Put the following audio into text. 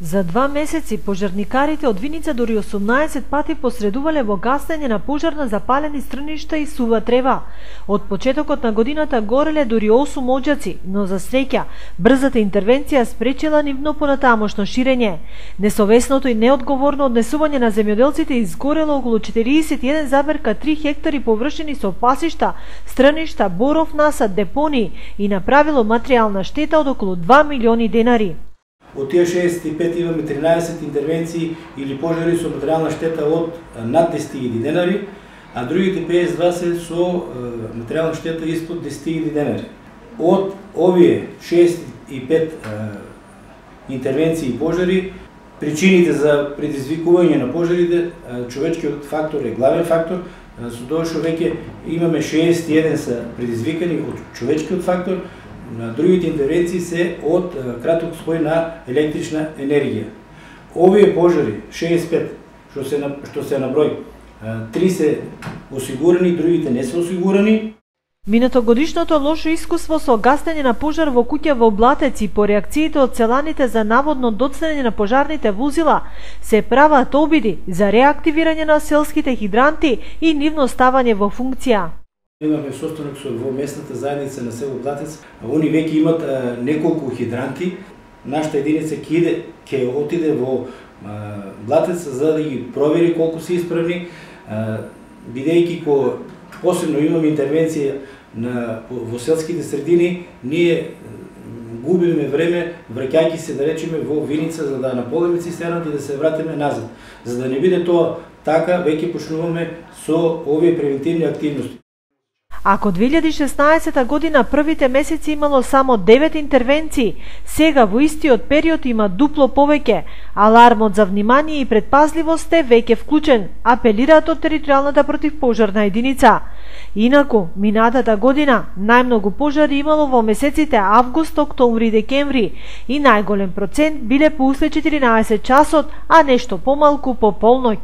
За 2 месеци пожарникарите од Виница дури 18 пати посредувале во гасење на пожар на запалени стрништа и сува трева. Од почетокот на годината гореле дури 8 оџаци, но за среќа, брзата интервенција спречила нивно понатамошно ширење. Несовесното и неодговорно однесување на земјоделците изгорело околу 41,3 хектари површини со пасишта, стрништа, боров насад, депонии и направило материјална штета од околу 2 милиони денари. Од тие 65 имаме 13 интервенции или пожари со материјална штета од над 10.000 денари, а другите 52 се со материјална штета испод 10.000 денари. Од овие 65 интервенции и пожари, причините за предизвикување на пожарите, човечкиот фактор е главен фактор, со тоа што веќе имаме 61 се предизвикани од човечкиот фактор, на другите интервенции се од краток спој на електрична енергија. Овие пожари, 65, што се на број, 3 се осигурани, другите не се осигурани. Минатогодишното лошо искуство со гасење на пожар во куќа во Блатец и по реакциите од селаните за наводно доцнење на пожарните возила се прават обиди за реактивирање на селските хидранти и нивно ставање во функција. Имаме состанок во местната заедница на село Блатец, они веќе имат неколку хидранти. Нашата единица ќе отиде во Блатец за да ги провери колку се исправни, бидејќи посебно имаме интервенција во селските средини, ние губиме време враќајќи се, да речеме, во Виница за да наполниме цистерната и да се вратиме назад. За да не биде тоа така, веќе почнуваме со овие превентивни активности. Ако 2016 година првите месеци имало само 9 интервенции, сега во истиот период има дупло повеќе. Алармот за внимание и предпазливост е веќе вклучен, апелираат од територијалната противпожарна единица. Инаку, минатата година најмногу пожари имало во месеците август, октомври и декември и најголем процент биле по услед 14 часот, а нешто помалку по полноќ.